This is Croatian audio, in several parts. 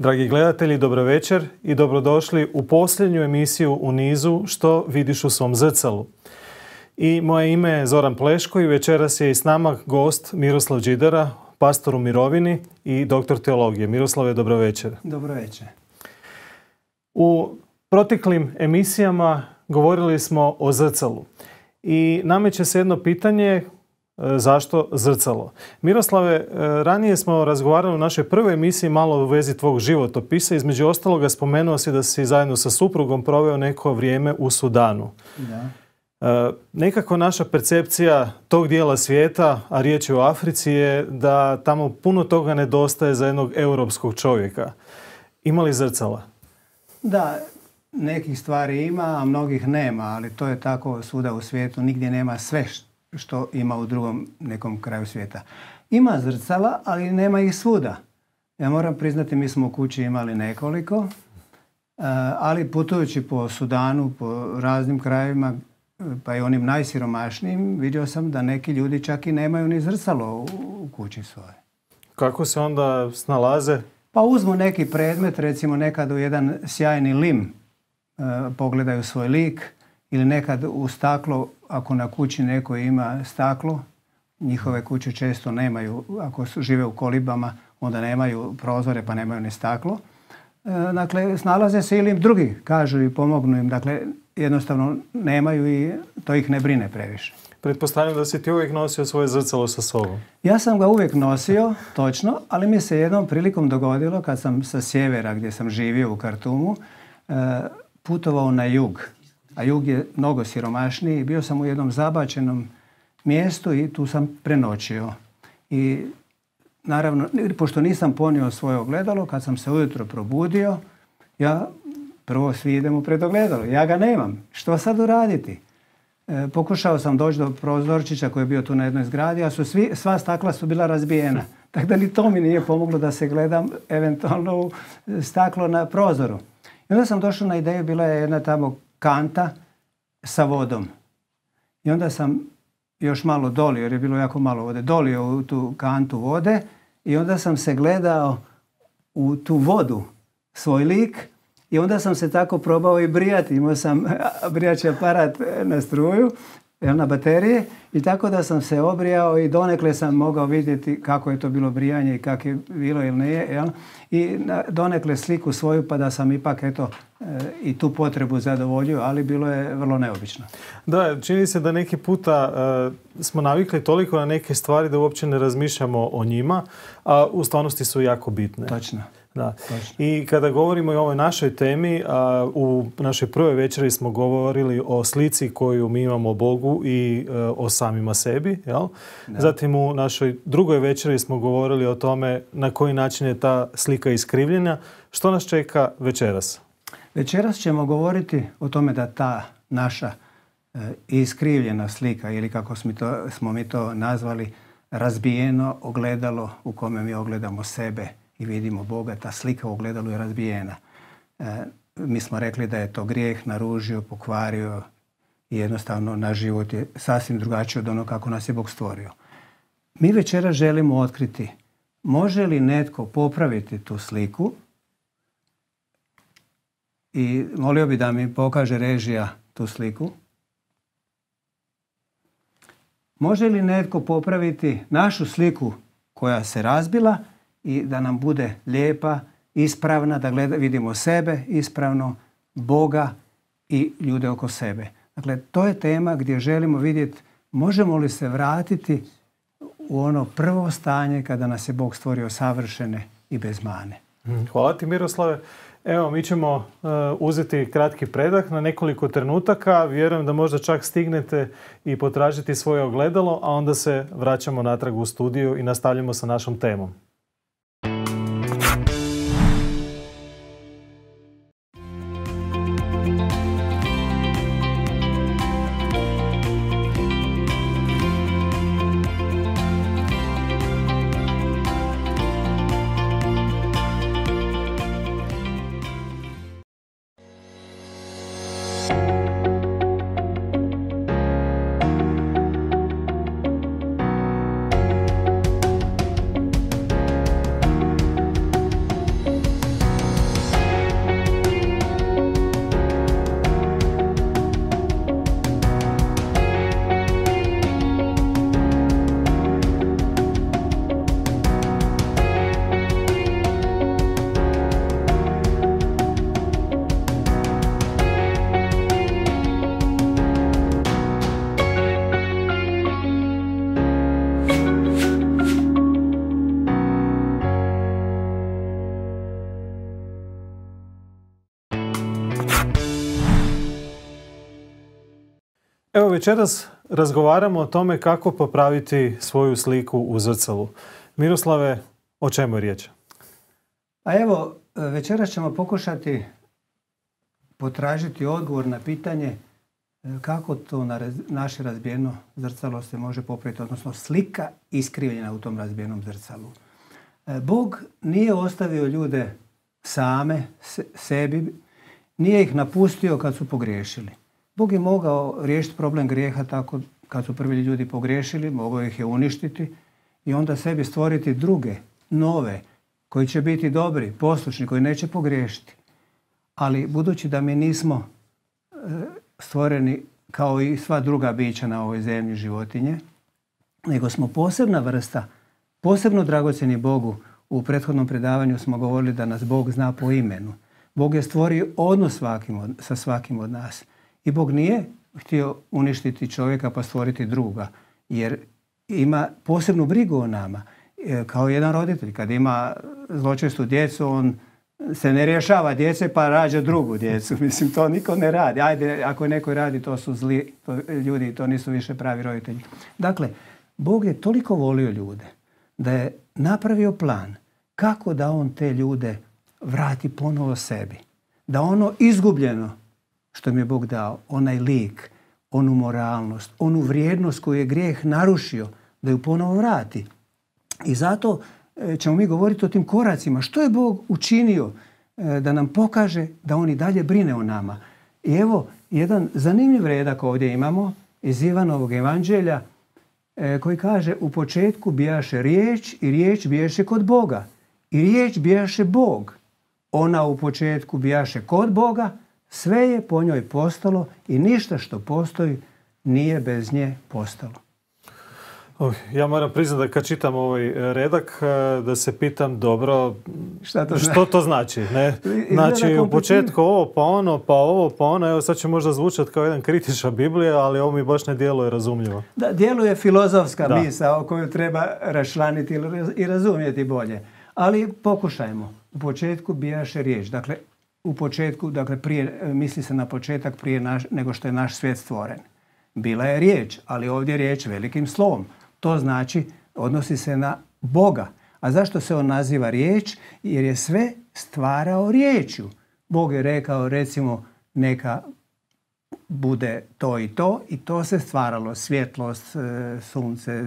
Dragi gledatelji, dobro večer i dobrodošli u posljednju emisiju u nizu Što vidiš u svom zrcalu. I moje ime je Zoran Pleško i večeras je i s nama gost Miroslav Đidara, pastor u mirovini i doktor teologije. Miroslave, dobro večer. Dobro večer. U proteklim emisijama govorili smo o zrcalu i nameće se jedno pitanje: zašto zrcalo? Miroslave, ranije smo razgovarali u našoj prvoj emisiji malo u vezi tvog životopisa. Između ostaloga spomenuo si da si zajedno sa suprugom proveo neko vrijeme u Sudanu. Da. Nekako naša percepcija tog dijela svijeta, a riječ je o Africi, je da tamo puno toga nedostaje za jednog europskog čovjeka. Ima li zrcala? Da, nekih stvari ima, a mnogih nema, ali to je tako svuda u svijetu. Nigdje nema sve što ima u drugom nekom kraju svijeta. Ima zrcala, ali nema ih svuda. Ja moram priznati, mi smo u kući imali nekoliko, ali putujući po Sudanu, po raznim krajevima, pa i onim najsiromašnijim, vidio sam da neki ljudi čak i nemaju ni zrcalo u kući svoje. Kako se onda snalaze? Pa uzmu neki predmet, recimo nekad u jedan sjajni lim pogledaju svoj lik, ili nekad u staklo, ako na kući neko ima staklo, njihove kuće često nemaju, ako žive u kolibama, onda nemaju prozore pa nemaju ni staklo. Dakle, snalaze se ili im drugi kažu i pomognu im, dakle, jednostavno nemaju i to ih ne brine previše. Pretpostavljam da si ti uvijek nosio svoje zrcalo sa sobom. Ja sam ga uvijek nosio, točno, ali mi se jednom prilikom dogodilo kad sam sa sjevera, gdje sam živio u Kartumu, putovao na jug. A jug je mnogo siromašniji. Bio sam u jednom zabačenom mjestu i tu sam prenoćio. I naravno, pošto nisam ponio svoje ogledalo, kad sam se ujutro probudio, ja prvo svi idemo pred ogledalo. Ja ga nemam. Što sad uraditi? Pokušao sam doći do prozorčića koji je bio tu na jednoj zgradi, a sva stakla su bila razbijena. Tako da ni to mi nije pomoglo da se gledam eventualno u staklo na prozoru. I onda sam došao na ideju, bila je jedna tamo kanta sa vodom. I onda sam još malo dolio, jer je bilo jako malo vode, dolio u tu kantu vode i onda sam se gledao u tu vodu, svoj lik, i onda sam se tako probao i brijati. Imao sam brijači aparat na struju, na baterije, i tako da sam se obrijao i donekle sam mogao vidjeti kako je to bilo brijanje i kako je bilo ili nije. Jel? I donekle sliku svoju, pa da sam ipak i tu potrebu zadovoljio, ali bilo je vrlo neobično. Da, čini se da neki puta smo navikli toliko na neke stvari da uopće ne razmišljamo o njima, a u stvarnosti su jako bitne. Točno. Da. I kada govorimo o ovoj našoj temi, u našoj prvoj večeri smo govorili o slici koju mi imamo o Bogu i o samima sebi. Jel? Zatim u našoj drugoj večeri smo govorili o tome na koji način je ta slika iskrivljena. Što nas čeka večeras? Večeras ćemo govoriti o tome da ta naša iskrivljena slika, ili kako smo mi to nazvali, razbijeno ogledalo u kome mi ogledamo sebe i vidimo Boga, ta slika u ogledalu je razbijena. Mi smo rekli da je to grijeh naružio, pokvario i jednostavno naš život je sasvim drugačiji od onog kako nas je Bog stvorio. Mi večera želimo otkriti, može li netko popraviti tu sliku, i molio bi da mi pokaže režija tu sliku. Može li netko popraviti našu sliku koja se razbila i da nam bude lijepa, ispravna, da vidimo sebe ispravno, Boga i ljude oko sebe. Dakle, to je tema gdje želimo vidjeti možemo li se vratiti u ono prvo stanje kada nas je Bog stvorio savršene i bez mane. Hvala ti, Miroslave. Evo, mi ćemo uzeti kratki predah na nekoliko trenutaka. Vjerujem da možda čak stignete i potražiti svoje ogledalo, a onda se vraćamo natrag u studiju i nastavljamo sa našom temom. Evo večeras razgovaramo o tome kako popraviti svoju sliku u zrcalu. Miroslave, o čemu je riječ? A evo, večeras ćemo pokušati potražiti odgovor na pitanje kako to naše razbijeno zrcalo se može popraviti, odnosno slika iskrivljena u tom razbijenom zrcalu. Bog nije ostavio ljude same, sebi, nije ih napustio kad su pogriješili. Bog je mogao riješiti problem grijeha tako kad su prvi ljudi pogriješili, mogao ih je uništiti i onda sebi stvoriti druge, nove, koji će biti dobri, poslušni, koji neće pogriješiti. Ali budući da mi nismo stvoreni kao i sva druga bića na ovoj zemlji, životinje, nego smo posebna vrsta, posebno dragocjeni Bogu. U prethodnom predavanju smo govorili da nas Bog zna po imenu. Bog je stvorio odnos sa svakim od nas. I Bog nije htio uništiti čovjeka pa stvoriti druga, jer ima posebnu brigu o nama. Kao jedan roditelj, kad ima zločestu djecu, on se ne rješava djece pa rađa drugu djecu. Mislim, to niko ne radi. Ajde, ako neko radi, to su zli ljudi, to nisu više pravi roditelji. Dakle, Bog je toliko volio ljude da je napravio plan kako da on te ljude vrati ponovo sebi. Da ono izgubljeno što mi je Bog dao, onaj lik, onu moralnost, onu vrijednost koju je grijeh narušio, da ju ponovo vrati. I zato ćemo mi govoriti o tim koracima. Što je Bog učinio da nam pokaže da on i dalje brine o nama. I evo, jedan zanimljiv redak ovdje imamo iz Ivanovog evanđelja koji kaže: u početku bijaše riječ i riječ bijaše kod Boga. I riječ bijaše Bog. Ona u početku bijaše kod Boga, sve je po njoj postalo i ništa što postoji nije bez nje postalo. Ja moram priznati da kad čitam ovaj redak da se pitam dobro što to znači. Ne? Znači u početku ovo pa ono, pa ovo pa ono. Evo sad će možda zvučati kao jedan kritičar Biblije, ali ovo mi baš ne djeluje razumljivo. Da, djeluje filozofska misao koju treba raščlaniti i razumjeti bolje. Ali pokušajmo. U početku bijaše riječ. Dakle, u početku, prije, misli se na početak prije nego što je naš svijet stvoren. Bila je riječ, ali ovdje je riječ velikim slovom. To znači, odnosi se na Boga. A zašto se on naziva riječ? Jer je sve stvarao riječju. Bog je rekao, recimo, neka bude to i to se stvaralo. Svjetlost, sunce,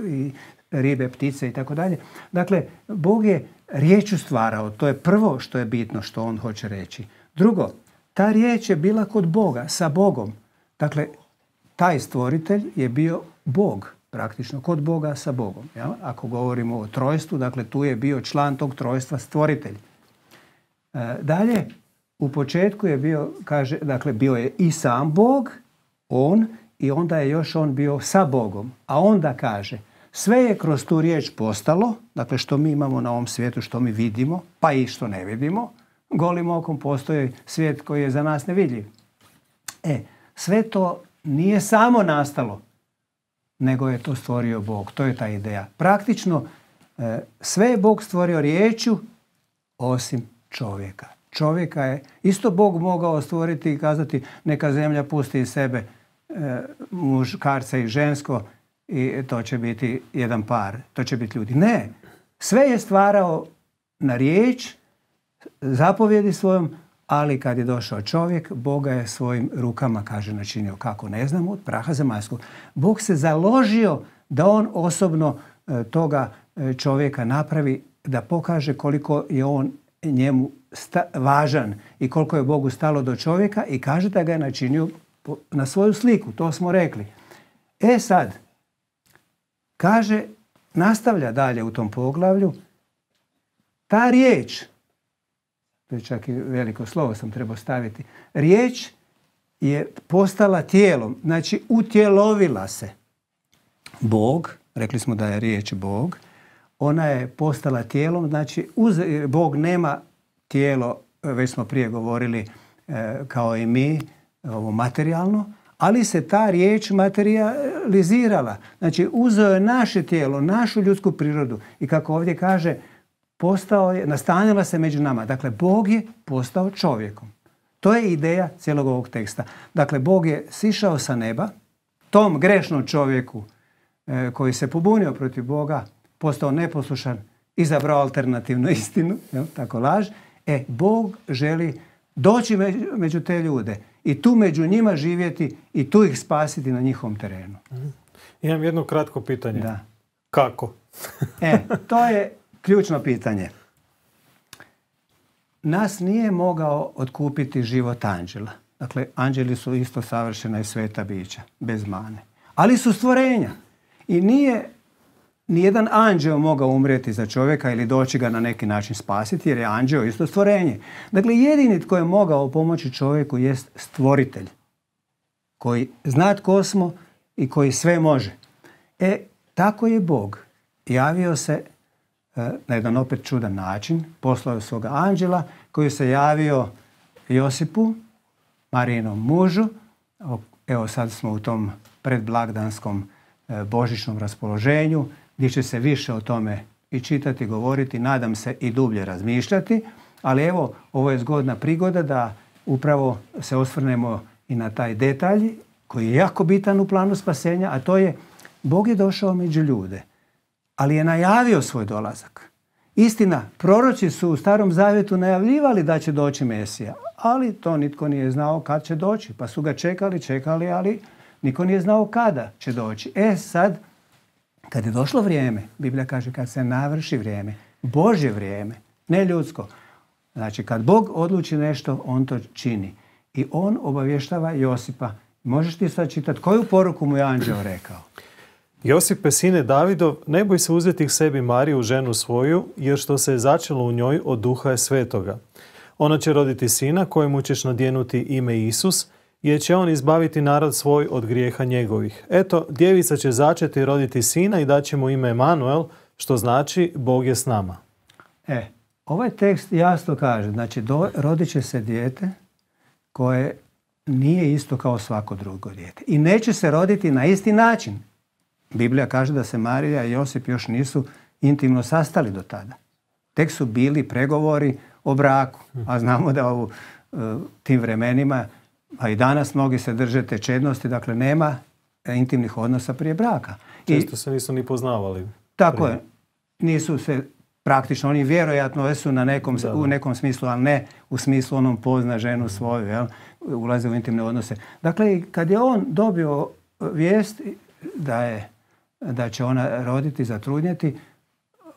i ribe, ptice i tako dalje. Dakle, Bog je riječju stvarao. To je prvo što je bitno što on hoće reći. Drugo, ta riječ je bila kod Boga, sa Bogom. Dakle, taj stvoritelj je bio Bog, praktično kod Boga sa Bogom. Ja? Ako govorimo o trojstvu, dakle tu je bio član tog trojstva stvoritelj. Dalje, u početku je bio, kaže, dakle bio je i sam Bog, on, i onda je još on bio sa Bogom. A onda kaže, sve je kroz tu riječ postalo, dakle što mi imamo na ovom svijetu, što mi vidimo, pa i što ne vidimo, golim okom postoji svijet koji je za nas nevidljiv. Sve to nije samo nastalo, nego je to stvorio Bog. To je ta ideja. Praktično, sve je Bog stvorio riječju, osim čovjeka. Čovjeka je isto Bog mogao stvoriti i kazati neka zemlja pusti iz sebe muškarca i žensko i to će biti jedan par, to će biti ljudi. Ne, sve je stvarao na riječ, zapovjedi svojom, ali kad je došao čovjek, Boga je svojim rukama, kaže, načinio, kako ne znamo, od praha zemaljskog. Bog se založio da on osobno toga čovjeka napravi, da pokaže koliko je on njemu važan i koliko je Bogu stalo do čovjeka, i kaže da ga je načinio na svoju sliku. To smo rekli. Sad, kaže, nastavlja dalje u tom poglavlju, ta riječ, to je čak i veliko slovo sam trebao staviti, riječ je postala tijelom, znači utjelovila se. Bog, rekli smo da je riječ Bog, ona je postala tijelom, znači Bog nema tijelo, već smo prije govorili, kao i mi, ovo materijalno, ali se ta riječ materializirala. Znači uzeo je naše tijelo, našu ljudsku prirodu i kako ovdje kaže, nastanila se među nama. Dakle, Bog je postao čovjekom. To je ideja cijelog ovog teksta. Dakle, Bog je sišao sa neba, tom grešnom čovjeku koji se pobunio protiv Boga, postao neposlušan, izabrao alternativnu istinu, tako laž. Bog želi doći među te ljude i tu među njima živjeti i tu ih spasiti na njihovom terenu. Imam jedno kratko pitanje. Da. Kako? To je ključno pitanje. Nas nije mogao otkupiti život anđela. Dakle, anđeli su isto savršena i sveta bića, bez mane. Ali su stvorenja. I nije nijedan anđeo mogao umrijeti za čovjeka ili doći ga na neki način spasiti, jer je anđeo isto stvorenje. Dakle, jedini tko je mogao pomoći čovjeku jest stvoritelj, koji zna tko smo i koji sve može. Tako je Bog javio se na jedan opet čudan način, poslao svoga anđela koji se javio Josipu, Marijinom mužu. Evo sad smo u tom predblagdanskom božićnom raspoloženju gdje će se više o tome i čitati, govoriti, nadam se i dublje razmišljati, ali evo ovo je zgodna prigoda da upravo se osvrnemo i na taj detalj koji je jako bitan u planu spasenja, a to je Bog je došao među ljude, ali je najavio svoj dolazak. Istina, proroci su u Starom Zavjetu najavljivali da će doći Mesija, ali to nitko nije znao kad će doći, pa su ga čekali, ali niko nije znao kada će doći. Sad, kad je došlo vrijeme, Biblija kaže kad se navrši vrijeme, Božje vrijeme, ne ljudsko. Znači, kad Bog odluči nešto, on to čini. I on obavještava Josipa. Možeš ti sad čitati koju poruku mu je anđeo rekao? Josipe, sine Davidov, ne boj se uzeti k sebi Mariju, ženu svoju, jer što se je začelo u njoj od Duha Svetoga. Ona će roditi sina kojemu ćeš nadjenuti ime Isus, jer će on izbaviti narod svoj od grijeha njegovih. Eto, djevica će začeti roditi sina i daće mu ime Emanuel, što znači Bog je s nama. Ovaj tekst jasno kaže, znači rodit će se dijete koje nije isto kao svako drugo dijete. I neće se roditi na isti način. Biblija kaže da se Marija i Josip još nisu intimno sastali do tada. Tek su bili pregovori o braku. A znamo da u tim vremenima, a i danas mnogi se drže te čednosti, dakle nema intimnih odnosa prije braka. Često se nisu ni poznavali. Tako je. Nisu se praktično, oni vjerojatno su u nekom smislu, ali ne u smislu onom pozna ženu svoju, ulaze u intimne odnose. Dakle, kad je on dobio vijest da će ona roditi, zatrudnjeti,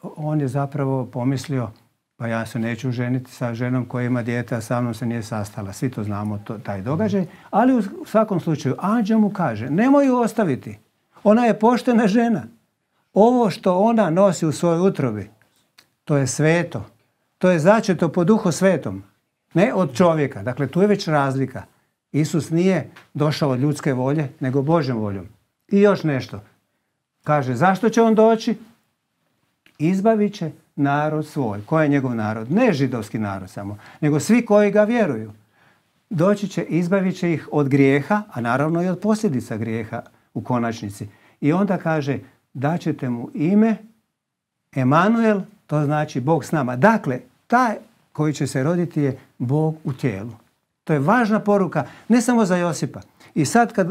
on je zapravo pomislio, pa ja se neću ženiti sa ženom koja ima dijete, a sa mnom se nije sastala. Svi to znamo, taj događaj. Ali u svakom slučaju, anđeo mu kaže, nemoj ju ostaviti. Ona je poštena žena. Ovo što ona nosi u svojoj utrobi, to je sveto. To je začeto po Duhu Svetom. Ne od čovjeka. Dakle, tu je već razlika. Isus nije došao od ljudske volje, nego Božjom voljom. I još nešto. Kaže, zašto će on doći? Izbavit će narod svoj. Ko je njegov narod? Ne židovski narod samo, nego svi koji ga vjeruju. Doći će, izbavit će ih od grijeha, a naravno i od posljedica grijeha u konačnici. I onda kaže, daćete mu ime Emanuel, to znači Bog s nama. Dakle, taj koji će se roditi je Bog u tijelu. To je važna poruka, ne samo za Josipa. I sad kad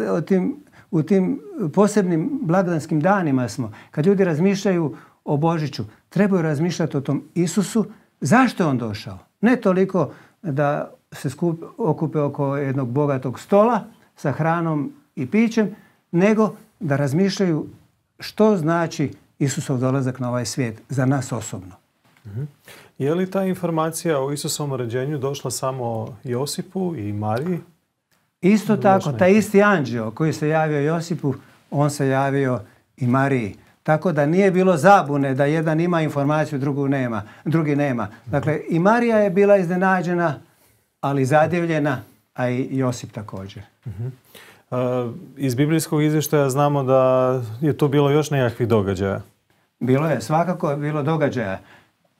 u tim posebnim blagdanskim danima smo, kad ljudi razmišljaju o Božiću, trebaju razmišljati o tom Isusu. Zašto je on došao? Ne toliko da se okupe oko jednog bogatog stola sa hranom i pićem, nego da razmišljaju što znači Isusov dolazak na ovaj svijet za nas osobno. Je li ta informacija o Isusovom rođenju došla samo Josipu i Mariji? Isto tako, taj isti anđeo koji se javio Josipu, on se javio i Mariji. Tako da nije bilo zabune da jedan ima informaciju, drugi nema. Dakle, i Marija je bila iznenađena, ali zadivljena, a i Josip također. Iz biblijskog izvještaja znamo da je tu bilo još nekakvih događaja. Bilo je, svakako je bilo događaja.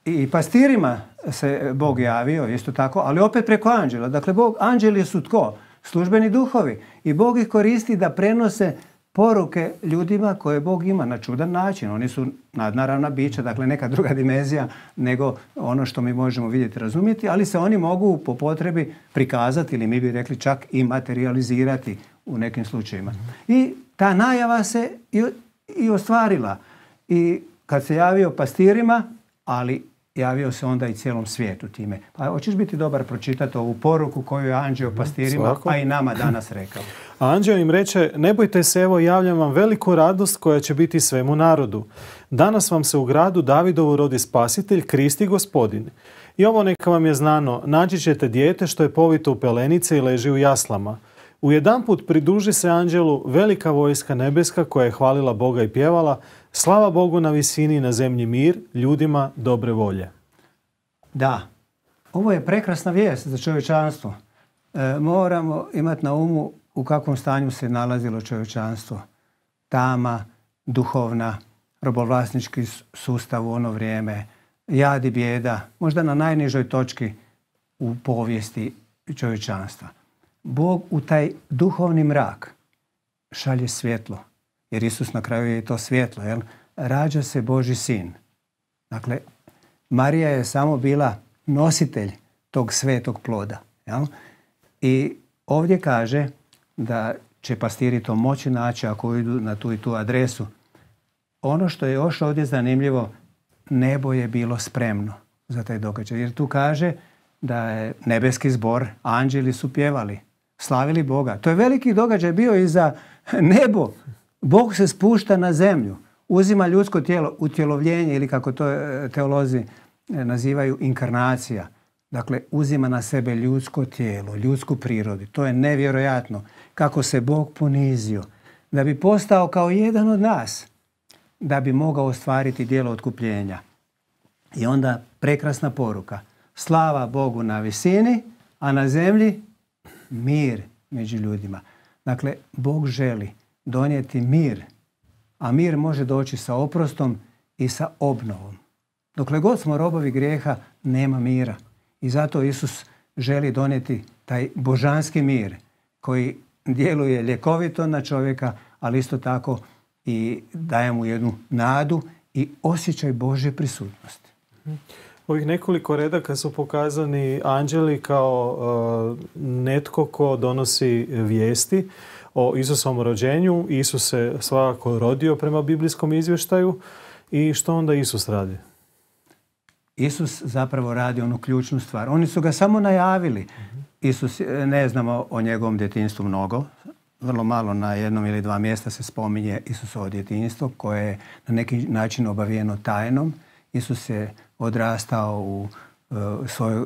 I pastirima se Bog javio, isto tako, ali opet preko anđela. Dakle, anđeli su tko? Službeni duhovi. I Bog ih koristi da prenose poruke ljudima koje Bog ima na čudan način. Oni su nadnaravna bića, dakle neka druga dimenzija nego ono što mi možemo vidjeti, razumjeti, ali se oni mogu po potrebi prikazati ili mi bi rekli čak i materializirati u nekim slučajevima. I ta najava se i ostvarila. I kad se javio pastirima, ali javio se onda i cijelom svijetu time. Pa hoćeš biti dobar pročitati ovu poruku koju je anđeo pastirima, Svako. a i nama danas rekao. A anđeo im reče, ne bojte se, evo javljam vam veliku radost koja će biti svemu narodu. Danas vam se u gradu Davidovu rodi spasitelj, Kristi Gospodin. I ovo neka vam je znano, naći ćete dijete što je povito u pelenice i leži u jaslama. Ujedanput pridruži se anđelu velika vojska nebeska koja je hvalila Boga i pjevala, slava Bogu na visini i na zemlji mir, ljudima dobre volje. Da, ovo je prekrasna vijest za čovječanstvo. Moramo imati na umu u kakvom stanju se nalazilo čovječanstvo. Tama, duhovna, robovlasnički sustav u ono vrijeme, jad i bijeda, možda na najnižoj točki u povijesti čovječanstva. Bog u taj duhovni mrak šalje svjetlo, jer Isus na kraju je to svjetlo, jel? Rađa se Božji sin. Dakle, Marija je samo bila nositelj tog svetog ploda. Jel? I ovdje kaže da će pastiri to moći naći ako idu na tu i tu adresu. Ono što je još ovdje zanimljivo, nebo je bilo spremno za taj događaj. Jer tu kaže da je nebeski zbor, anđeli su pjevali, slavili Boga. To je veliki događaj bio i za nebo. Bog se spušta na zemlju, uzima ljudsko tijelo, utjelovljenje ili kako to teolozi nazivaju inkarnacija. Dakle, uzima na sebe ljudsko tijelo, ljudsku prirodu. To je nevjerojatno kako se Bog ponizio da bi postao kao jedan od nas, da bi mogao ostvariti djelo otkupljenja. I onda prekrasna poruka. Slava Bogu na visini, a na zemlji mir među ljudima. Dakle, Bog želi donijeti mir, a mir može doći sa oprostom i sa obnovom. Dokle god smo robovi grijeha, nema mira. I zato Isus želi donijeti taj božanski mir koji djeluje ljekovito na čovjeka, ali isto tako i daje mu jednu nadu i osjećaj Božje prisutnosti. Ovih nekoliko redaka su pokazani anđeli kao netko ko donosi vijesti o Isusovom rođenju. Isus se svakako rodio prema biblijskom izvještaju. I što onda Isus radi? Isus zapravo radi onu ključnu stvar. Oni su ga samo najavili. Isus, ne znamo o njegovom djetinjstvu mnogo. Vrlo malo na jednom ili dva mjesta se spominje Isusovo djetinjstvo koje je na neki način obavijeno tajnom. Isus je odrastao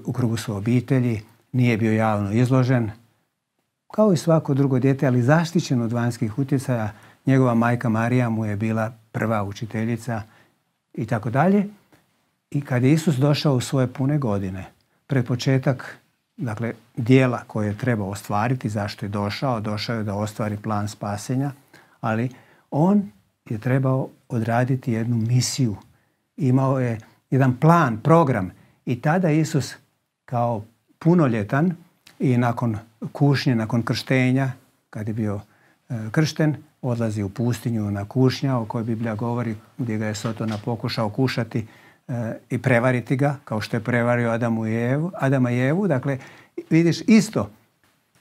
u krugu svoje obitelji, nije bio javno izložen, kao i svako drugo dijete, ali zaštićen od vanjskih utjecaja. Njegova majka Marija mu je bila prva učiteljica i tako dalje. I kad je Isus došao u svoje pune godine, pred početak, dakle, dijela koje je trebao ostvariti, zašto je došao? Došao je da ostvari plan spasenja, ali on je trebao odraditi jednu misiju. Imao je jedan plan, program i tada Isus kao punoljetan i nakon kušnje, nakon krštenja, kad je bio kršten, odlazi u pustinju na kušnja o kojoj Biblija govori, gdje ga je Sotona pokušao kušati i prevariti ga, kao što je prevario Adama i Evu. Dakle, vidiš isto,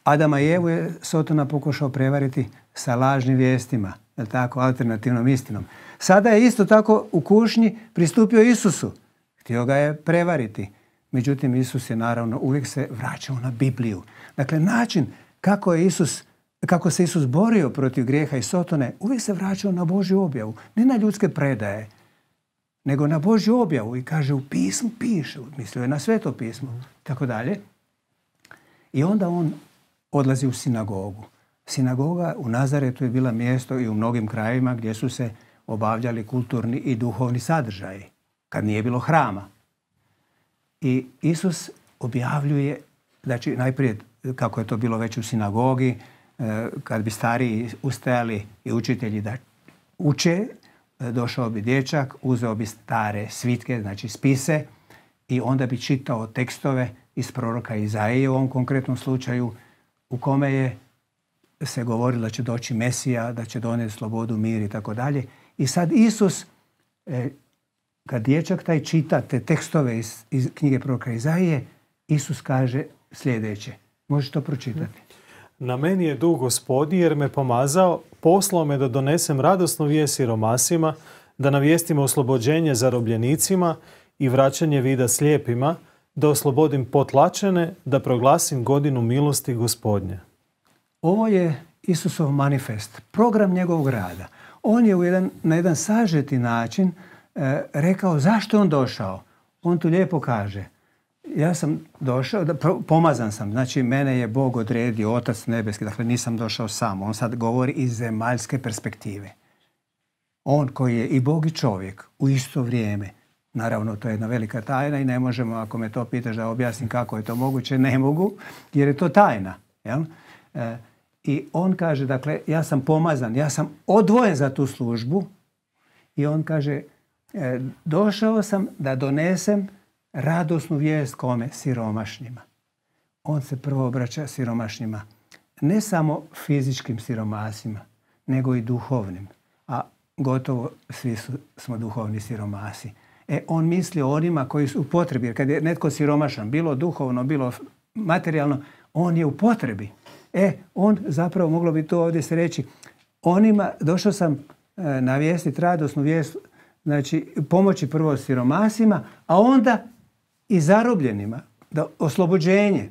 Adama i Evu je Sotona pokušao prevariti sa lažnim vijestima, je tako, alternativnom istinom. Sada je isto tako u kušnji pristupio Isusu. Htio ga je prevariti. Međutim, Isus je naravno uvijek se vraćao na Bibliju. Dakle, način kako se Isus borio protiv grijeha i Sotone, uvijek se vraćao na Božju objavu. Ne na ljudske predaje, nego na Božju objavu. I kaže, u pismu piše, mislio je na Sveto pismo, tako dalje. I onda on odlazi u sinagogu. Sinagoga u Nazaretu je bila mjesto i u mnogim krajevima gdje su se obavljali kulturni i duhovni sadržaji, kad nije bilo hrama. I Isus objavljuje, znači najprije kako je to bilo već u sinagogi, kad bi stariji ustajali i učitelji da uče, došao bi dječak, uzeo bi stare svitke, znači spise, i onda bi čitao tekstove iz proroka Izaije u ovom konkretnom slučaju, u kome je se govorilo da će doći Mesija, da će donijeti slobodu, mir i tako dalje. I sad Isus, kad dječak taj čita te tekstove iz knjige proroka Izaije, Isus kaže sljedeće. Možeš to pročitati? Na meni je duh Gospodnji jer me pomazao, poslao me da donesem radosnu vijest siromasima, da navijestim oslobođenje zarobljenicima i vraćanje vida slijepima, da oslobodim potlačene, da proglasim godinu milosti Gospodnje. Ovo je Isusov manifest, program njegovog rada. On je na jedan sažeti način rekao zašto je on došao. On tu lijepo kaže, ja sam došao, pomazan sam, znači mene je Bog odredio, Otac nebeski, dakle nisam došao sam. On sad govori iz zemaljske perspektive. On koji je i Bog i čovjek u isto vrijeme. Naravno, to je jedna velika tajna i ne možemo, ako me to pitaš da objasnim kako je to moguće, ne mogu, jer je to tajna. Jel? I on kaže, dakle, ja sam pomazan, ja sam odvojen za tu službu i on kaže, došao sam da donesem radosnu vijest kome? Siromašnjima. On se prvo obraća siromašnjima. Ne samo fizičkim siromasima, nego i duhovnim. A gotovo svi smo duhovni siromasi. On misli o onima koji su u potrebi. Jer kad je netko siromašan, bilo duhovno, bilo materijalno, on je u potrebi. On zapravo, moglo bi to ovdje se reći, onima, došao sam navijestiti radosnu vijest, znači pomoći prvo siromasima, a onda i zarobljenima, da oslobođenje.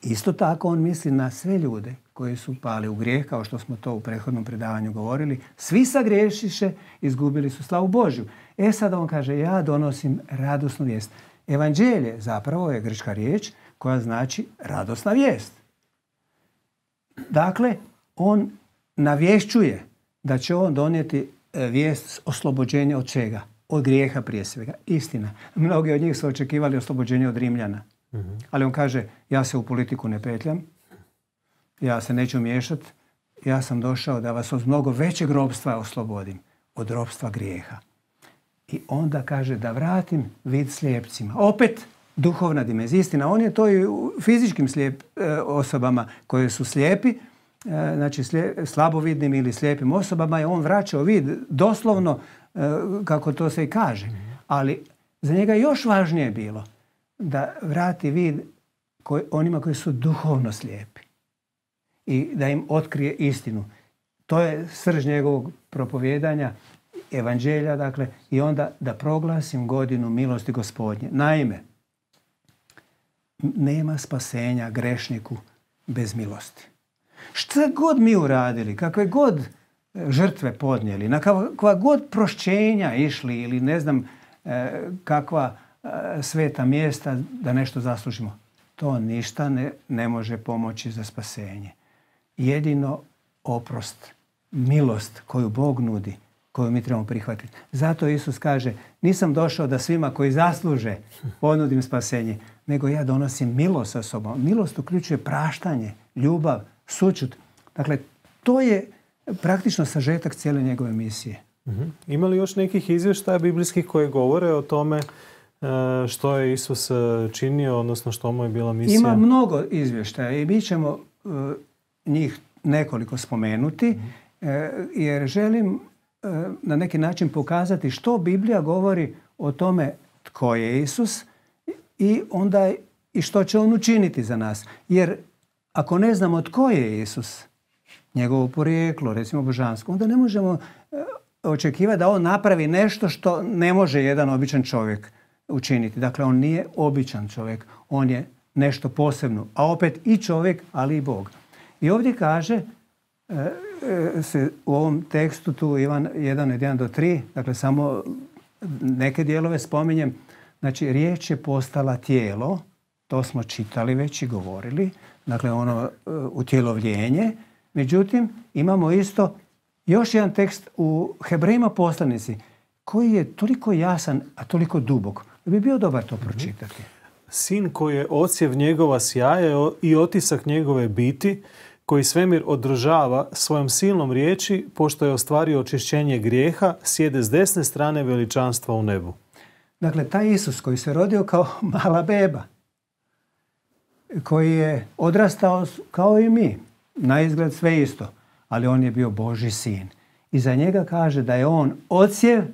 Isto tako on misli na sve ljude koji su pali u grijeh, kao što smo to u prethodnom predavanju govorili. Svi sagriješiše, izgubili su slavu Božju. Sad on kaže, ja donosim radosnu vijest. Evanđelje zapravo je grčka riječ koja znači radosna vijest. Dakle, on navješćuje da će on donijeti vijest oslobođenja od čega? Od grijeha prije svega. Istina. Mnogi od njih su očekivali oslobođenje od Rimljana. Ali on kaže, ja se u politiku ne petljam, ja se neću miješati, ja sam došao da vas od mnogo većeg ropstva oslobodim, od ropstva grijeha. I onda kaže da vratim vid slijepcima. Opet duhovna dimenzija. Istina, on je to i u fizičkim osobama koje su slijepi, znači slabovidnim ili slijepim osobama je on vraćao vid doslovno kako to se i kaže. Ali za njega još važnije je bilo da vrati vid onima koji su duhovno slijepi i da im otkrije istinu. To je srž njegovog propovijedanja, evanđelja, dakle, i onda da proglasim godinu milosti Gospodnje. Naime, nema spasenja grešniku bez milosti. Šta god mi uradili, kakve god žrtve podnijeli, na kakva god prošćenja išli ili ne znam kakva sveta mjesta da nešto zaslužimo, to ništa ne može pomoći za spasenje. Jedino oprost, milost koju Bog nudi, koju mi trebamo prihvatiti. Zato Isus kaže, nisam došao da svima koji zasluže ponudim spasenje, nego ja donosim milost sa sobom. Milost uključuje praštanje, ljubav, sućut. Dakle, to je praktično sažetak cijele njegove misije. Ima li još nekih izvještaja biblijskih koje govore o tome što je Isus činio, odnosno što mu je bila misija? Ima mnogo izvještaja i mi ćemo njih nekoliko spomenuti, jer želim na neki način pokazati što Biblija govori o tome tko je Isus i onda i što će on učiniti za nas. Jer ako ne znamo tko je Isus, njegovo porijeklo, recimo božansko, onda ne možemo očekivati da on napravi nešto što ne može jedan običan čovjek učiniti. Dakle, on nije običan čovjek, on je nešto posebno, a opet i čovjek, ali i Bog. I ovdje kaže se u ovom tekstu tu Ivan 1:1-3, dakle samo neke dijelove spominjem, znači riječ je postala tijelo, to smo čitali već i govorili, dakle ono utjelovljenje. Međutim, imamo isto još jedan tekst u Hebrejima poslanici koji je toliko jasan, a toliko dubok. Da bi bio dobar to pročitati. Sin koji je odsjev njegova sjaja i otisak njegove biti, koji svemir održava svojom silnom riječi, pošto je ostvario očišćenje grijeha, sjede s desne strane veličanstva u nebu. Dakle, taj Isus koji se rodio kao mala beba, koji je odrastao kao i mi, na izgled sve isto, ali on je bio Božji sin. I za njega kaže da je on odsjev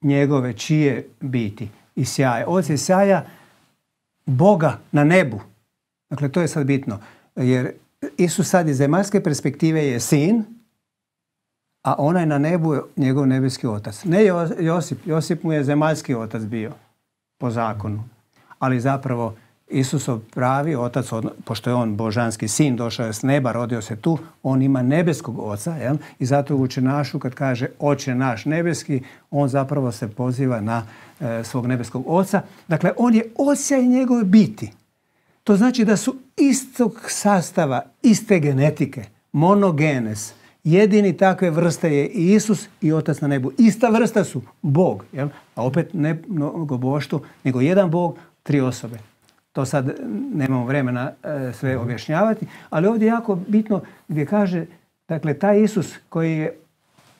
njegove čije biti i sjaja. Odsjev sjaja Boga na nebu. Dakle, to je sad bitno. Jer Isus sad iz zemaljske perspektive je sin, a onaj na nebu je njegov nebeski otac. Ne Josip. Josip mu je zemaljski otac bio po zakonu. Ali zapravo Isusov pravi otac, pošto je on božanski sin, došao je s neba, rodio se tu, on ima nebeskog oca. Jel? I zato u učenašu kad kaže Oče naš nebeski, on zapravo se poziva na svog nebeskog oca. Dakle, on je osjaj njegove biti. To znači da su istog sastava, iste genetike, monogenes. Jedini takve vrste je i Isus i Otac na nebu. Ista vrsta su Bog. Jel? A opet ne mnogo boštvo, nego jedan Bog, 3 osobe. To sad nemamo vremena sve objašnjavati, ali ovdje je jako bitno gdje kaže, dakle, taj Isus koji je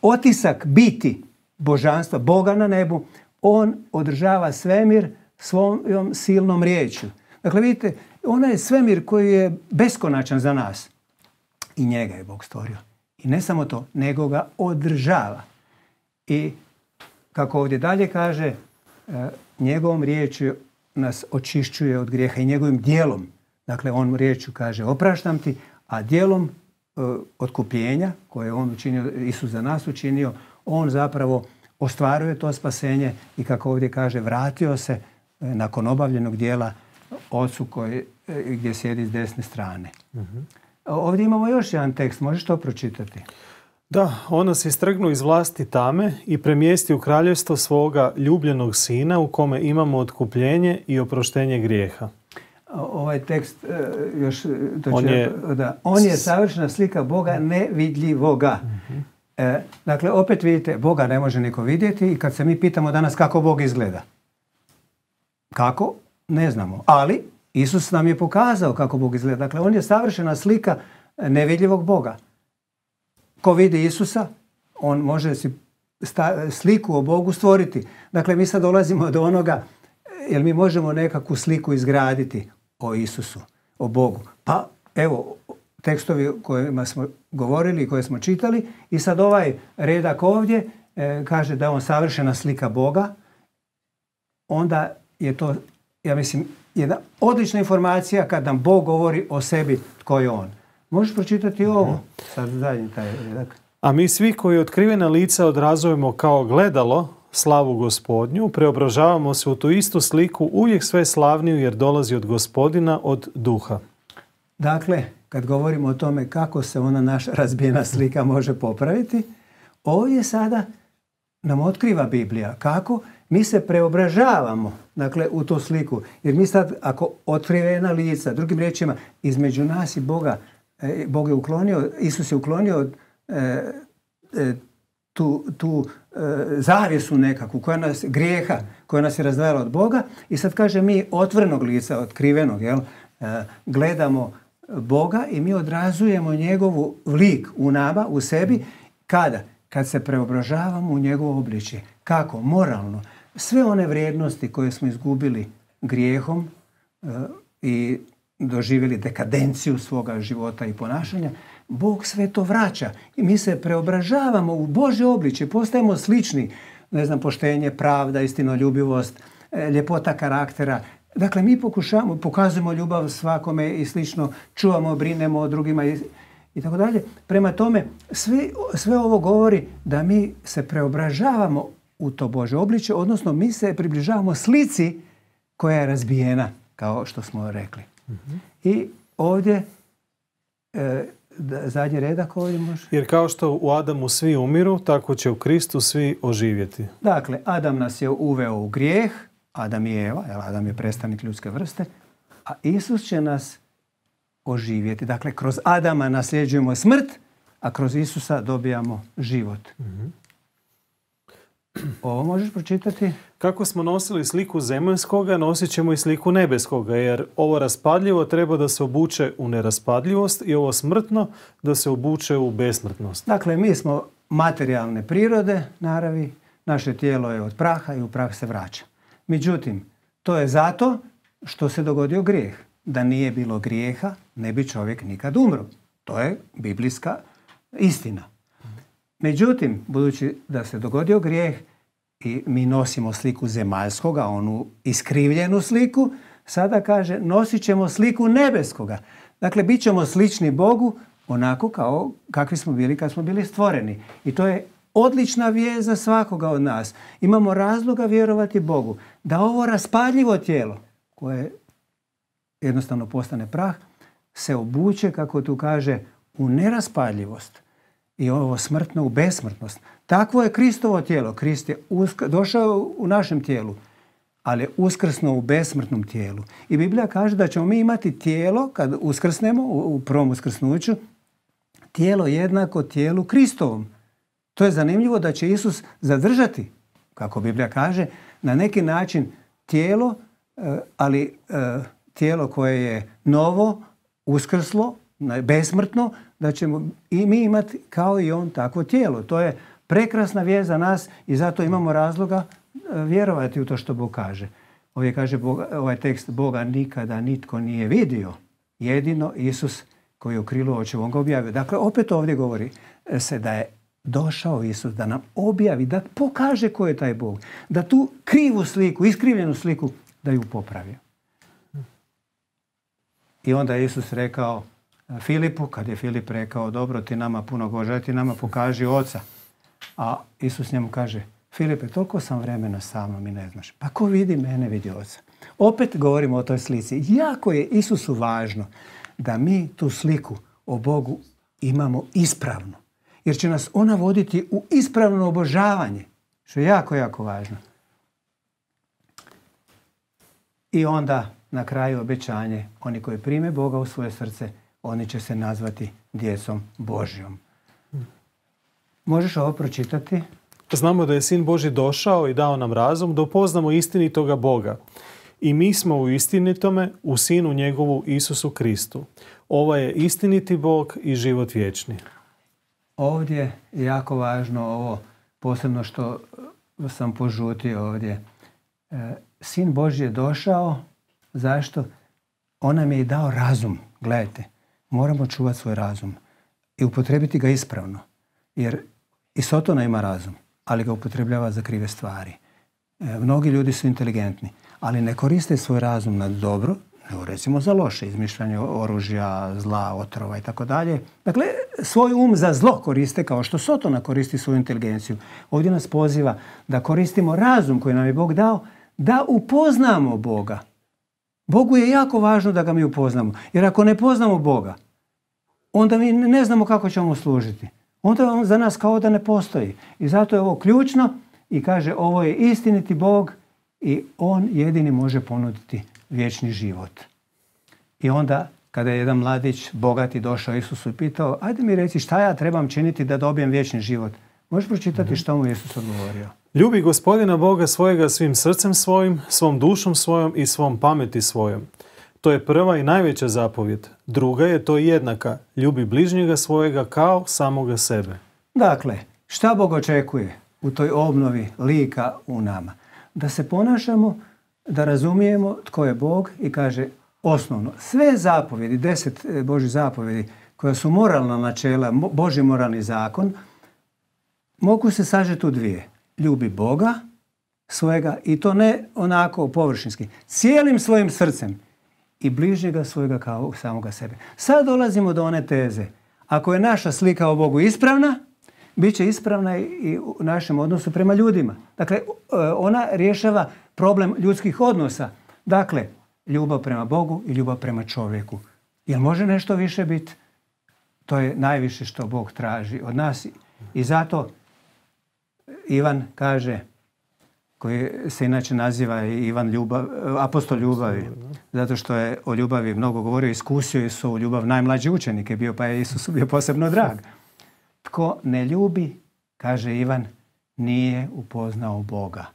otisak biti božanstva, Boga na nebu, on održava svemir svojom silnom riječju. Dakle, vidite, onaj svemir koji je beskonačan za nas, i njega je Bog stvorio. I ne samo to, nego ga održava. I kako ovdje dalje kaže, njegovom riječju nas očišćuje od grijeha i njegovim djelom. Dakle, on riječju kaže opraštam ti, a djelom otkupljenja koje je on učinio, Isus za nas učinio, on zapravo ostvaruje to spasenje i kako ovdje kaže, vratio se nakon obavljenog djela Ocu gdje sjedi s desne strane. Ovdje imamo još jedan tekst, možeš to pročitati? Da, on nas istrgnuo iz vlasti tame i premjesti u kraljevstvo svoga ljubljenog sina u kome imamo otkupljenje i oproštenje grijeha. Ovaj tekst još... On je savršena slika Boga nevidljivoga. Dakle, opet vidite, Boga ne može niko vidjeti i kad se mi pitamo danas kako Bog izgleda. Kako? Ne znamo. Ali Isus nam je pokazao kako Bog izgleda. Dakle, on je savršena slika nevidljivog Boga. Ko vidi Isusa, on može si sliku o Bogu stvoriti. Dakle, mi sad dolazimo do onoga, jer mi možemo nekakvu sliku izgraditi o Isusu, o Bogu. Pa, evo, tekstovi o kojima smo govorili i koje smo čitali i sad ovaj redak ovdje kaže da je on savršena slika Boga, onda je to, ja mislim, jedna odlična informacija kad nam Bog govori o sebi tko je on. Možeš pročitati ovo? Sad zadnji taj redak. A mi svi koji otkrivena lica odrazujemo kao gledalo slavu Gospodnju, preobražavamo se u tu istu sliku uvijek sve slavniju jer dolazi od Gospodina, od duha. Dakle, kad govorimo o tome kako se ona naša razbijena slika može popraviti, ovdje sada nam otkriva Biblija kako mi se preobražavamo, dakle, u tu sliku. Jer mi sad, ako otkrivena lica, drugim riječima, između nas i Boga, Bog je uklonio, Isus je uklonio tu zavjesu nekakvu grijeha koja nas je razdvajala od Boga i sad kaže mi otvorenog lica, otkrivenog, gledamo Boga i mi odrazujemo njegovu lik u nama, u sebi. Kada? Kad se preobražavamo u njegovo obličje. Kako? Moralno. Sve one vrijednosti koje smo izgubili grijehom i doživjeli dekadenciju svoga života i ponašanja, Bog sve to vraća. I mi se preobražavamo u Božje obličje, postajemo slični, poštenje, pravda, istinoljubivost, ljepota karaktera. Dakle, mi pokazujemo ljubav svakome i slično, čuvamo, brinemo o drugima i tako dalje. Prema tome, sve ovo govori da mi se preobražavamo u to Božje obličje, odnosno mi se približavamo slici koja je razbijena, kao što smo rekli. I ovdje, zadnji redak ovdje može. Jer kao što u Adamu svi umiru, tako će u Kristu svi oživjeti. Dakle, Adam nas je uveo u grijeh, Adam i Eva, Adam je predstavnik ljudske vrste, a Isus će nas oživjeti. Dakle, kroz Adama nasljeđujemo smrt, a kroz Isusa dobijamo život. Ovo možeš pročitati? Kako smo nosili sliku zemaljskoga, nosit ćemo i sliku nebeskoga, jer ovo raspadljivo treba da se obuče u neraspadljivost i ovo smrtno da se obuče u besmrtnost. Dakle, mi smo materijalne prirode, naravi, naše tijelo je od praha i u prah se vraća. Međutim, to je zato što se dogodio grijeh. Da nije bilo grijeha, ne bi čovjek nikad umro. To je biblijska istina. Međutim, budući da se dogodio grijeh i mi nosimo sliku zemaljskoga, onu iskrivljenu sliku, sada kaže nosit ćemo sliku nebeskoga. Dakle, bit ćemo slični Bogu onako kao kakvi smo bili kad smo bili stvoreni. I to je odlična vijest za svakoga od nas. Imamo razloga vjerovati Bogu da ovo raspaljivo tijelo, koje jednostavno postane prah, se obuče, kako tu kaže, u neraspaljivost i ovo smrtno u besmrtnost. Takvo je Kristovo tijelo. Krist je došao u našem tijelu, ali je uskrsnuo u besmrtnom tijelu. I Biblija kaže da ćemo mi imati tijelo, kad uskrsnemo u prvom uskrsnuću, tijelo jednako tijelu Kristovom. To je zanimljivo da će Isus zadržati, kako Biblija kaže, na neki način tijelo, ali tijelo koje je novo, uskrslo, besmrtno, da ćemo i mi imati kao i on takvo tijelo. To je prekrasna vijest za nas i zato imamo razloga vjerovati u to što Bog kaže. Ovdje kaže ovaj tekst, Boga nikada nitko nije vidio, jedino Isus koji je u krilu očevom ga objavio. Dakle, opet ovdje govori se da je došao Isus da nam objavi, da pokaže ko je taj Bog, da tu krivu sliku, iskrivljenu sliku, da ju popravi. I onda je Isus rekao Filipu, kad je Filip rekao, dobro, ti nama puno Božja, ti nama pokaži Oca. A Isus njemu kaže, Filipe, toliko sam vremena sa mnom i ne znaš. Pa ko vidi mene, vidi Oca. Opet govorimo o toj slici. Jako je Isusu važno da mi tu sliku o Bogu imamo ispravno. Jer će nas ona voditi u ispravno obožavanje. Što je jako, jako važno. I onda na kraju obećanje, oni koji prime Boga u svoje srce, oni će se nazvati djecom Božjom. Možeš ovo pročitati? Znamo da je Sin Božji došao i dao nam razum da upoznamo istinitoga Boga. I mi smo u istinitome, u Sinu njegovu Isusu Kristu. Ovo je istiniti Bog i život vječni. Ovdje je jako važno ovo, posebno što sam požutio ovdje. Sin Božji je došao, zašto? On nam je i dao razum. Gledajte, moramo čuvati svoj razum i upotrijebiti ga ispravno. Jer i Sotona ima razum, ali ga upotrebljava za krive stvari. Mnogi ljudi su inteligentni, ali ne koriste svoj razum na dobro, nego recimo za loše, izmišljanje oružja, zla, otrova i tako dalje. Dakle, svoj um za zlo koriste kao što Sotona koristi svoju inteligenciju. Ovdje nas poziva da koristimo razum koji nam je Bog dao, da upoznamo Boga. Bogu je jako važno da ga mi upoznamo. Jer ako ne poznamo Boga, onda mi ne znamo kako ćemo mu služiti. Onda on za nas kao da ne postoji. I zato je ovo ključno i kaže ovo je istiniti Bog i on jedini može ponuditi vječni život. I onda kada je jedan mladić bogati došao Isusu i pitao, ajde mi reci šta ja trebam činiti da dobijem vječni život. Možeš pročitati što mu Isus odgovorio? Ljubi Gospodina Boga svojega svim srcem svojim, svom dušom svojom i svom pameti svojom. To je prva i najveća zapovjed. Druga je to jednaka. Ljubi bližnjega svojega kao samoga sebe. Dakle, šta Bog očekuje u toj obnovi lika u nama? Da se ponašamo, da razumijemo tko je Bog i kaže osnovno. Sve zapovjedi, 10 Božjih zapovjedi koja su moralna načela, Božji moralni zakon, mogu se sažeti u dvije. Ljubi Boga svojega i to ne onako površinski. Cijelim svojim srcem i bližnjega svojega kao samoga sebe. Sad dolazimo do one teze. Ako je naša slika o Bogu ispravna, bit će ispravna i u našem odnosu prema ljudima. Dakle, ona rješava problem ljudskih odnosa. Dakle, ljubav prema Bogu i ljubav prema čovjeku. Jel može nešto više biti? To je najviše što Bog traži od nas. I zato Ivan kaže, koji se inače naziva Ivan apostol ljubavi, zato što je o ljubavi mnogo govorio, iskusio je svoju ljubav, najmlađi učenik je bio, pa je Isus bio posebno drag. Tko ne ljubi, kaže Ivan, nije upoznao Boga,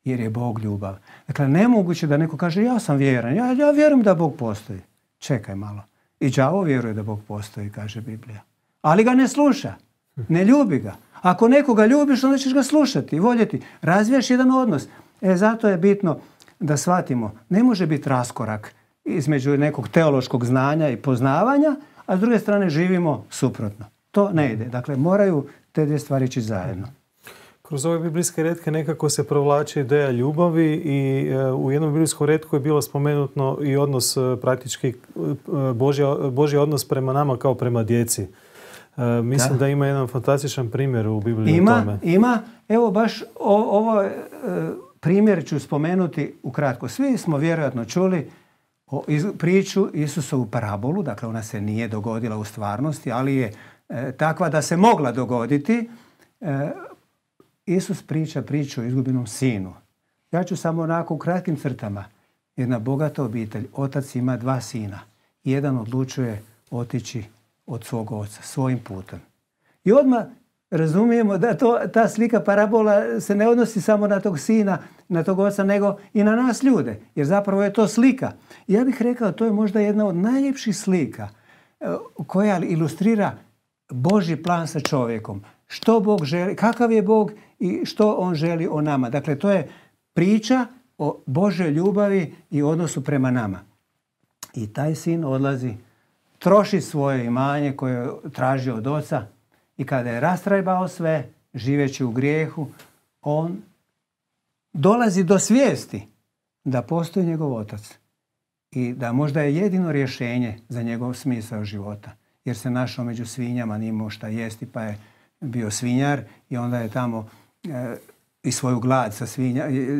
jer je Bog ljubav. Dakle, nemoguće da neko kaže, ja sam vjeran, ja vjerujem da Bog postoji. Čekaj malo. I đavo vjeruje da Bog postoji, kaže Biblija. Ali ga ne sluša, ne ljubi ga. Ako nekoga ljubiš, onda ćeš ga slušati i voljeti. Razvijaš jedan odnos. Zato je bitno da shvatimo, ne može biti raskorak između nekog teološkog znanja i poznavanja, a s druge strane živimo suprotno. To ne ide. Dakle, moraju te dvije stvari ići zajedno. Kroz ove biblijske retke nekako se provlači ideja ljubavi i u jednom biblijskom retku je bilo spomenuto i odnos praktički Božji odnos prema nama kao prema djeci. Mislim da ima jedan fantastičan primjer u Bibliji o tome. Ima. Evo baš ovo primjer ću spomenuti ukratko. Svi smo vjerojatno čuli priču Isusovu parabolu, dakle ona se nije dogodila u stvarnosti, ali je takva da se mogla dogoditi. Isus priča priču o izgubljenom sinu. Ja ću samo onako u kratkim crtama. Jedna bogata obitelj, otac ima 2 sina. Jedan odlučuje otići od svog oca, svojim putem. I odmah razumijemo da ta slika parabola se ne odnosi samo na tog sina, na tog oca, nego i na nas ljude. Jer zapravo je to slika. I ja bih rekao, to je možda jedna od najljepših slika koja ilustrira Božji plan sa čovjekom. Što Bog želi, kakav je Bog i što on želi o nama. Dakle, to je priča o Božjoj ljubavi i odnosu prema nama. I taj sin odlazi, troši svoje imanje koje je tražio od oca i kada je rastrajbao sve, živeći u grijehu, on dolazi do svijesti da postoji njegov otac i da možda je jedino rješenje za njegov smisao života. Jer se našao među svinjama, nije imao šta jesti, pa je bio svinjar i onda je tamo i svoju glad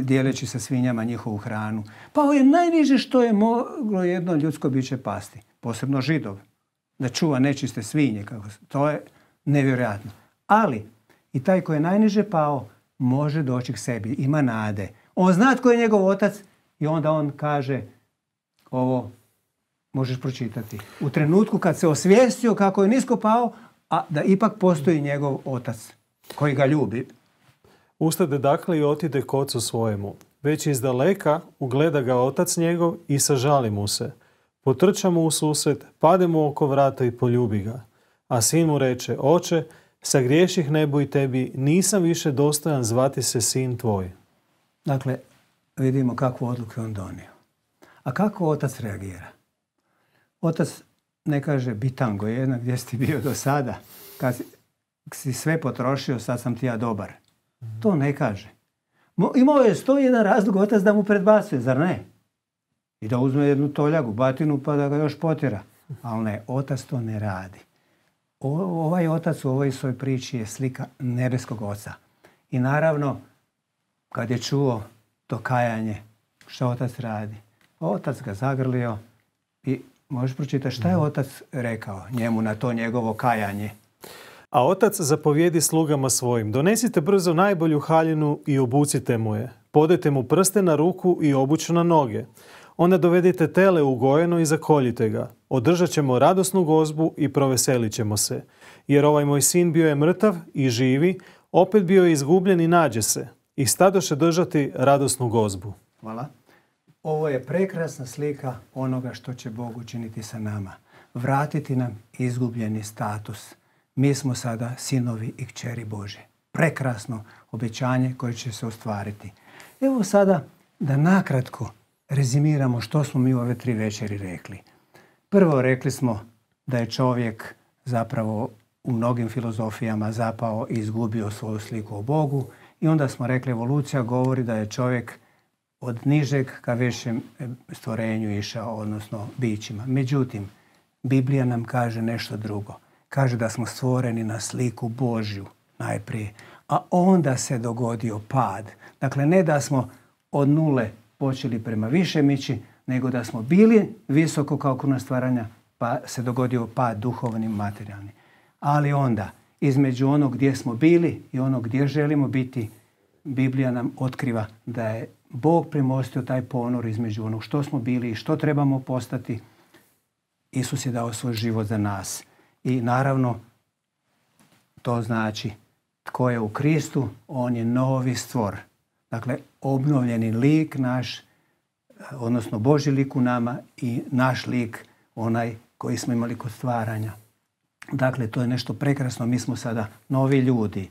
dijeleći sa svinjama njihovu hranu. Pao je najniže što je moglo jedno ljudsko biće pasti, posebno Židov, da čuva nečiste svinje. To je nevjerojatno. Ali i taj koji je najniže pao može doći k sebi, ima nade. On zna tko je njegov otac i onda on kaže ovo možeš pročitati. U trenutku kad se osvijestio kako je nisko pao, a da ipak postoji njegov otac koji ga ljubi. Ustade dakle i otide k ocu svojemu. Već iz daleka ugleda ga otac njegov i sažali mu se. Potrča mu u susret, pade mu oko vrata i poljubi ga. A sin mu reče, oče, sagriješih nebu i tebi, nisam više dostojan zvati se sin tvoj. Dakle, vidimo kakvu odluku on donio. A kako otac reagira? Otac ne kaže, bitango jedna, gdje si ti bio do sada? Kad si sve potrošio, sad sam ti ja dobar. To ne kaže. Imao je 101 razlog otac da mu predbacuje, zar ne? I da uzme jednu toljagu, batinu, pa da ga još potjera. Ali ne, otac to ne radi. Ovaj otac u ovoj svojoj priči je slika nebeskog oca. I naravno, kad je čuo to kajanje, što otac radi? Otac ga zagrlio i možeš pročitati šta je otac rekao njemu na to njegovo kajanje. A otac zapovjedi slugama svojim, donesite brzo najbolju haljinu i obucite mu je. Podajte mu prste na ruku i obuću na noge. Onda dovedite tele ugojeno i zakoljite ga. Održat ćemo radosnu gozbu i proveselit ćemo se. Jer ovaj moj sin bio je mrtav i živi, opet bio je izgubljen i nađe se. I stadoše držati radosnu gozbu. Hvala. Ovo je prekrasna slika onoga što će Bog učiniti sa nama. Vratiti nam izgubljeni status. Mi smo sada sinovi i kćeri Božje. Prekrasno obećanje koje će se ostvariti. Evo sada da nakratko rezimiramo što smo mi u ove 3 večeri rekli. Prvo rekli smo da je čovjek zapravo u mnogim filozofijama zapao i izgubio svoju sliku o Bogu. I onda smo rekli evolucija govori da je čovjek od nižeg ka većem stvorenju išao, odnosno bićima. Međutim, Biblija nam kaže nešto drugo. Kaže da smo stvoreni na sliku Božju najprije, a onda se dogodio pad. Dakle, ne da smo od nule počeli prema višem ići, nego da smo bili visoko kao kruna stvaranja, pa se dogodio pad duhovni, materijalni. Ali onda, između onog gdje smo bili i onog gdje želimo biti, Biblija nam otkriva da je Bog premostio taj ponor između onog što smo bili i što trebamo postati. Isus je dao svoj život za nas. I naravno, to znači tko je u Kristu, on je novi stvor. Dakle, obnovljeni lik naš, odnosno Božji lik u nama i naš lik, onaj koji smo imali kod stvaranja. Dakle, to je nešto prekrasno, mi smo sada novi ljudi.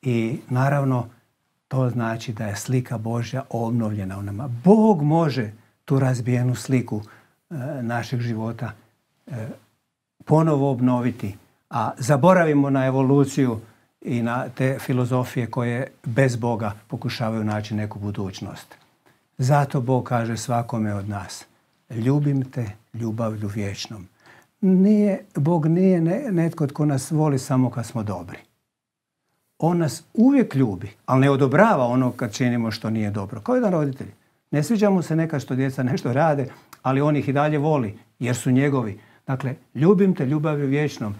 I naravno, to znači da je slika Božja obnovljena u nama. Bog može tu razbijenu sliku našeg života ponovo obnoviti. A zaboravimo na evoluciju i na te filozofije koje bez Boga pokušavaju naći neku budućnost. Zato Bog kaže svakome od nas: ljubim te ljubavlju vječnom. Bog nije netko tko nas voli samo kad smo dobri. On nas uvijek ljubi, ali ne odobrava ono kad činimo što nije dobro. Kao jedan roditelj. Ne sviđa mu se nekad što djeca nešto rade, ali on ih i dalje voli jer su njegovi. Dakle, ljubim te ljubavlju vječnom.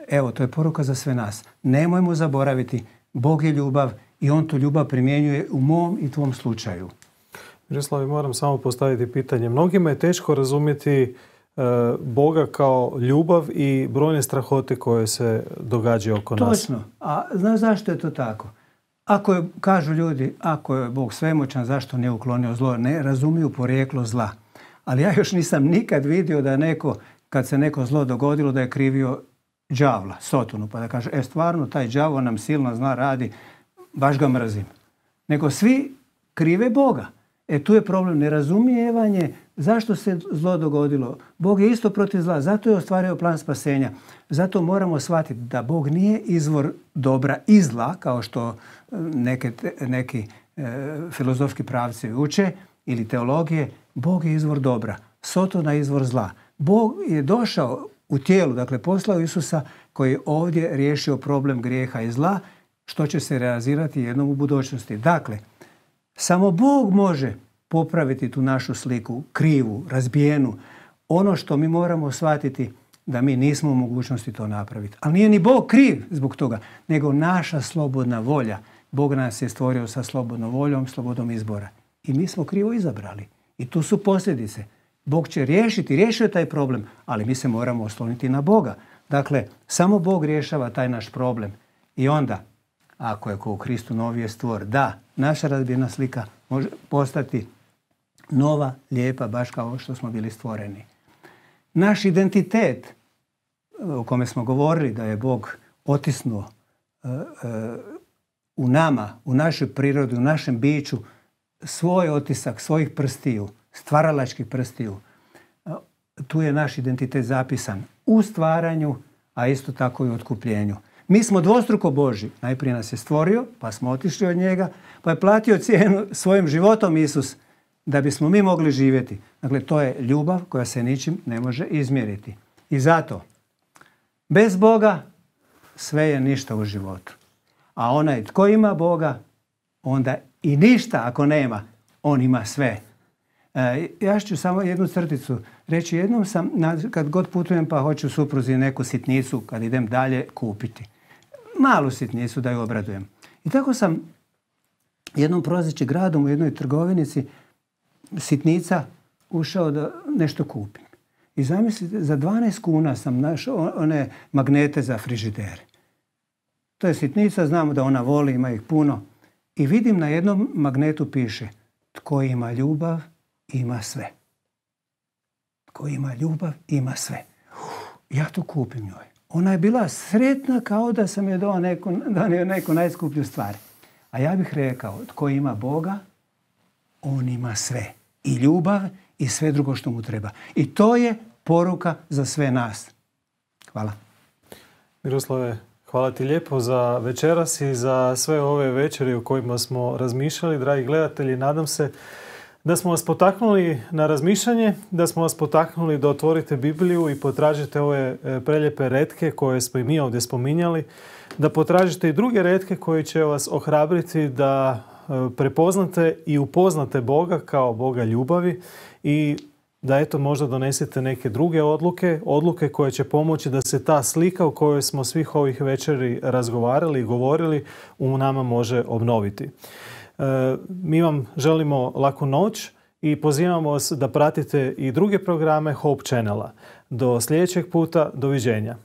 Evo, to je poruka za sve nas. Nemojmo zaboraviti, Bog je ljubav i on tu ljubav primjenjuje u mom i tvom slučaju. Miroslav, moram samo postaviti pitanje. Mnogima je teško razumjeti Boga kao ljubav i brojne strahote koje se događaju oko nas. Točno. A znaš zašto je to tako? Kažu ljudi, ako je Bog svemoćan, zašto nije uklonio zlo? Ne razumiju porijeklo zla. Ali ja još nisam nikad vidio da kad se neko zlo dogodilo, da je krivio đavla, Sotonu, pa da kaže, stvarno, taj đavo nam silno zla radi, baš ga mrzim. Nego svi krive Boga. Tu je problem nerazumijevanje zašto se zlo dogodilo. Bog je isto protiv zla, zato je ostvario plan spasenja. Zato moramo shvatiti da Bog nije izvor dobra i zla, kao što neki filozofski pravci uče ili teologije. Bog je izvor dobra, Sotona je izvor zla. Bog je došao u tijelu, dakle poslao Isusa koji je ovdje riješio problem grijeha i zla, što će se realizirati jednom u budućnosti. Dakle, samo Bog može popraviti tu našu sliku, krivu, razbijenu. Ono što mi moramo shvatiti da mi nismo u mogućnosti to napraviti. Ali nije ni Bog kriv zbog toga, nego naša slobodna volja. Bog nas je stvorio sa slobodnom voljom, slobodom izbora. I mi smo krivo izabrali. I tu su posljedice. Bog će riješio je taj problem, ali mi se moramo osloniti na Boga. Dakle, samo Bog rješava taj naš problem. I onda, ako je ko u Kristu novi je stvor, da, naša razbijena slika može postati nova, lijepa, baš kao što smo bili stvoreni. Naš identitet, o kome smo govorili da je Bog otisnuo u nama, u našoj prirodi, u našem biću, svoj otisak, svojih prstiju, stvaralačkih prstiju. Tu je naš identitet zapisan u stvaranju, a isto tako i u otkupljenju. Mi smo dvostruko Božji. Najprije nas je stvorio, pa smo otišli od njega, pa je platio cijenu svojim životom Isus da bismo mi mogli živjeti. Dakle, to je ljubav koja se ničim ne može izmjeriti. I zato, bez Boga sve je ništa u životu. A onaj tko ima Boga, onda i ništa ako nema, on ima sve. Ja ću samo jednu crticu reći. Jednom sam, kad god putujem pa hoću supruzi neku sitnicu, kad idem dalje, kupiti. Malu sitnicu da ju obradujem. I tako sam jednom prolazeći gradom u jednoj trgovinici sitnica ušao da nešto kupim. I zamislite, za 12 kuna sam našao one magnete za frižidere. To je sitnica, znamo da ona voli, ima ih puno. I vidim na jednom magnetu piše: tko ima ljubav, ima sve. Tko ima ljubav, ima sve. Ja to kupim njoj. Ona je bila sretna kao da sam je donio neku najskuplju stvar. A ja bih rekao, tko ima Boga, on ima sve. I ljubav i sve drugo što mu treba. I to je poruka za sve nas. Hvala. Miroslave, hvala ti lijepo za večeras i za sve ove večeri o kojima smo razmišljali. Dragi gledatelji, nadam se da smo vas potaknuli na razmišljanje, da smo vas potaknuli da otvorite Bibliju i potražite ove prelijepe retke koje smo i mi ovdje spominjali, da potražite i druge retke koje će vas ohrabriti da prepoznate i upoznate Boga kao Boga ljubavi i da eto možda donesete neke druge odluke koje će pomoći da se ta slika o kojoj smo svih ovih večeri razgovarali i govorili u nama može obnoviti. Mi vam želimo laku noć i pozivamo vas da pratite i druge programe Hope Channela. Do sljedećeg puta, doviđenja.